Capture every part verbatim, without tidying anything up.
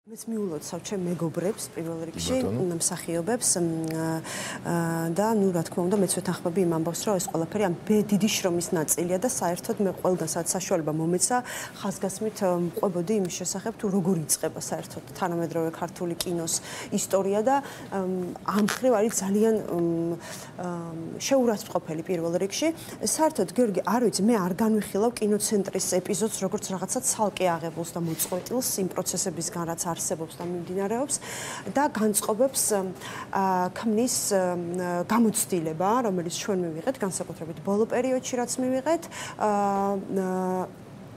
მეც მიულოცავ ჩემ მეგობრებს პირველ რიგში, მსახიობებს და ნუ რა თქმა უნდა მეც ვეთანხმები იმ ამბავს, რომ ეს ყველაფერი ამ დიდი შრომის ნაწილია და საერთოდ მე ყველგან სადაც საშუალება მომეცა, ხაზგასმით მყვებოდი იმის შესახებ, თუ როგორ იწყება საერთოდ თანამედროვე ქართული კინოს ისტორია და ამ მხრივ არის ძალიან შეურაცხმყოფელი პირველ რიგში. საერთოდ გიორგი, არ ვიცი, მე არ განვიხილავ კინოცენტრის ეპიზოდს როგორც რაღაცა ცალკე აღებულს და მოწყვეტილს იმ პროცესებისგან, რაც არსებობს და მიმდინარეობს და განწყობებს ქმნის გამოცდილება, რომელიც ჩვენ მივიღეთ, განსაკუთრებით ბოლო პერიოდში, რაც მივიღეთ,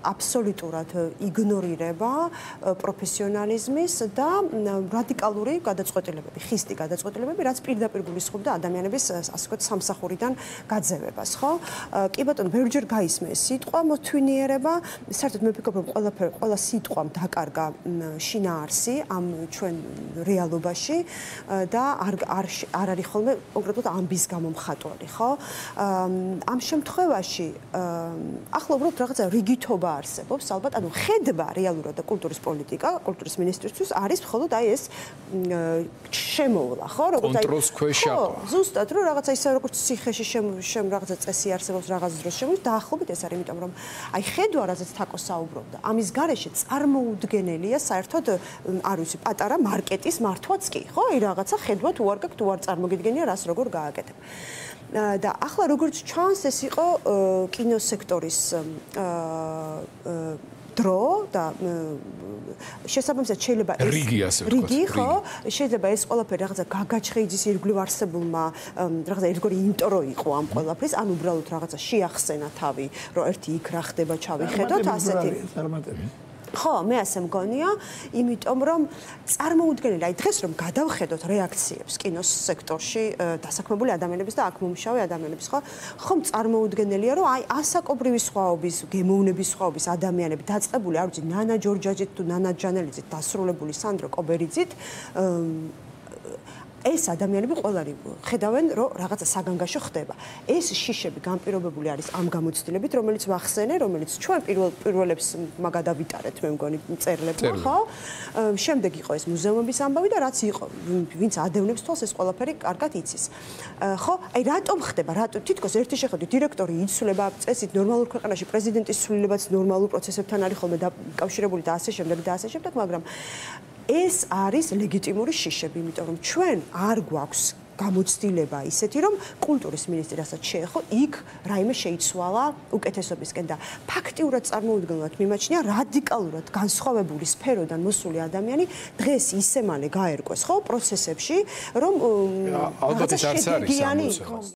აბსოლუტურად იგნორირება პროფესიონალიზმის და რადიკალური გადაწყვეტილებები, ხისტი გადაწყვეტილებები, რაც პირდაპირ გულისხმობდა ადამიანების, ასე ვთქვათ, სამსახურიდან გაძევებას, ხო? კი ბატონო, ბევრჯერ გაისმე ეს სიტყვა მოთვინიერება, საერთოდ მე ვფიქრობ, რომ ყველაფერი, ყველა სიტყვამ დაკარგა შინაარსი ამ ჩვენ რეალობაში და არ არ არ არის ხოლმე კონკრეტულად ამბის გამომხატვარი, ხო? ამ შემთხვევაში ახლა უბრალოდ რაღაცა რიგითობა არსებობს, ალბათ, ანუ ხედვა რეალურად და კულტურის პოლიტიკა, კულტურის მინისტრისთვის არის მხოლოდ აი ეს შემოვლა, ხო, როგორც აი კონტროლს ქვეშ აყვა. ხო, ზუსტად, რომ რაღაცა ისე როგორც ციხეში შემ რაღაცა წესი არსებობს რაღაც დროს შემოვიდა, დაახლოებით ეს არის, იმიტომ რომ აი ხედვა, რაზეც თაკო საუბრობდა, ამის გარეშე წარმოუდგენელია საერთოდ, არ ვიცი, პატარა მარკეტის მართვაც კი, ხო, აი რაღაცა ხედვა თუ არ გაქვს, თუ არ წარმოგიდგენია, რას როგორ გააკეთებ. და ახლა როგორც ჩანს, ეს იყო კინოსექტორის დრო და შესაბამისად შეიძლება ეს რიგი, ხო, შეიძლება ეს ყველაფერი რაღაცა გაგაჩხეიძის ირგვლივ არსებულმა რაღაცა ერთგვარი ინტრო იყო ამ ყველაფრის, ან უბრალოდ რაღაცა შეახსენა თავი, რომ ერთი იქ რა ხდება, ჩავიხედოთ, ასეთი. ხო, მე ასე მგონია, იმიტომ რომ წარმოუდგენელი, აი დღეს რომ გადავხედოთ რეაქციებს კინოს სექტორში დასაქმებული ადამიანების და აქ მომუშავე ადამიანების, ხო? ხომ წარმოუდგენელია, რომ აი ასაკობრივი სხვაობის, გემოვნების სხვაობის ადამიანები დაწყებული, არ ვიცი, ნანა ჯორჯაძით თუ ნანა ჯანელიძით დასრულებული სანდრო კობერიძით ეს ადამიანები ყველანი ხედავენ, რომ რაღაცა საგანგაშო ხდება. ეს შიშები განპირობებული არის ამ გამოცდილებით, რომელიც ვახსენე, რომელიც ჩვენ პირველ პირველებს მაგადავიტარეთ, მე მგონი წერლებმა, ხო? შემდეგ იყო ეს მუზეუმების ამბავი და რაც იყო, ვინც ადევნებს თვალს, ეს ყველაფერი კარგად იცის. ხო? აი რატომ ხდება? რატო თითქოს ერთი შეხედვით დირექტორი იცვლება წესით ნორმალურ ქვეყანაში, პრეზიდენტის ცვლილებაც ნორმალურ პროცესებთან არის ხოლმე დაკავშირებული და ასე შემდეგ და ასე შემდეგ, მაგრამ ეს არის ლეგიტიმური შიშები, იმიტომ რომ ჩვენ არ გვაქვს გამოცდილება ისეთი, რომ კულტურის მინისტრი რასაც შეეხო, იქ რაიმე შეიცვალა უკეთესობისკენ და ფაქტიურად წარმოუდგენლად მიმაჩნია რადიკალურად განსხვავებული სფეროდან მოსული ადამიანი დღეს ისე მალე გაერკვეს, ხო, პროცესებში, რომ ალბათ ეს არც არის.